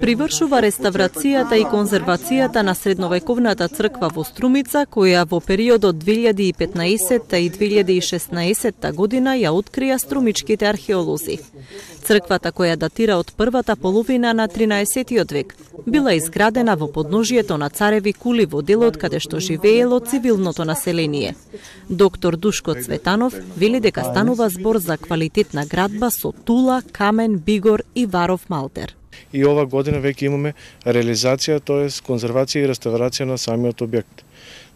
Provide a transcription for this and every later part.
Привршува реставрацијата и конзервацијата на средновековната црква во Струмица, која во периодот 2015 и 2016 година ја открија струмичките археолози. Црквата, која датира од првата половина на 13 век, била изградена во подножието на цареви кули во делот каде што живеело цивилното население. Доктор Душко Цветанов вели дека станува збор за квалитетна градба со тула, камен, бигор и варов малтер. И ова година веќе имаме реализација, тоест конзервација и реставрација на самиот објект.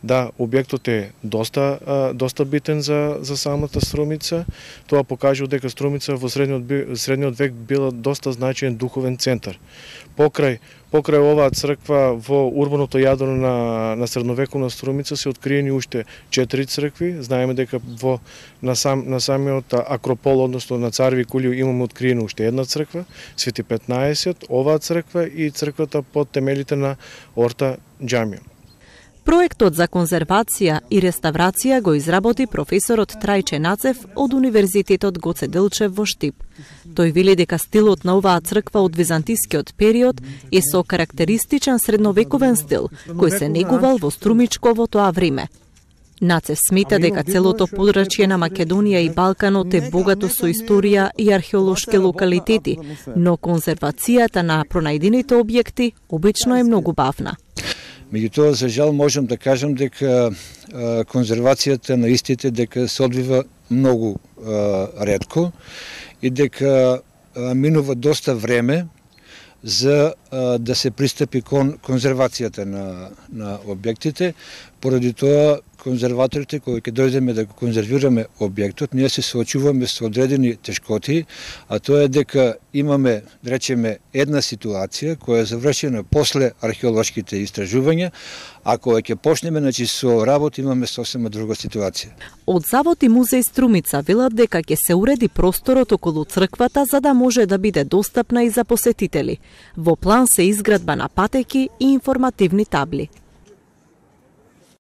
Да, објектот е доста битен за самата Струмица. Тоа покажува дека Струмица во средниот век била доста значаен духовен центар. Покрај оваа црква во урбаното јадро на средновековна Струмица се откриени уште 4 цркви. Знаеме дека на самиот Акропол, односно на Цареви кули, имаме откриена уште една црква, Свети 15, оваа црква и црквата под темелите на Орта џамија. Проектот за конзервација и реставрација го изработи професорот Трајче Нацев од Универзитетот Гоце Делчев во Штип. Тој вели дека стилот на оваа црква од византискиот период е со карактеристичен средновековен стил, кој се негувал во Струмичко во тоа време. Нацев смета дека целото подрачје на Македонија и Балканот е богато со историја и археолошки локалитети, но конзервацијата на пронајдените објекти обично е многу бавна. Меѓутоа, за жал, можам да кажам дека конзервацијата на истите дека се одвива многу ретко и дека минува доста време за да се пристапи кон конзервацијата на објектите. Поради тоа, конзерваторите, кои ќе дојдеме да го конзервираме објектот, ние се соочуваме со одредени тешкоти, а тоа е дека имаме, да речеме, една ситуација која е завршена после археолошките истражувања, а кога ќе почнеме со работа, имаме сосема друга ситуација. Од Завод и музеј Струмица велат дека ќе се уреди просторот околу црквата за да може да биде достапна и за посетители. Во план се изградба на патеки и информативни табли.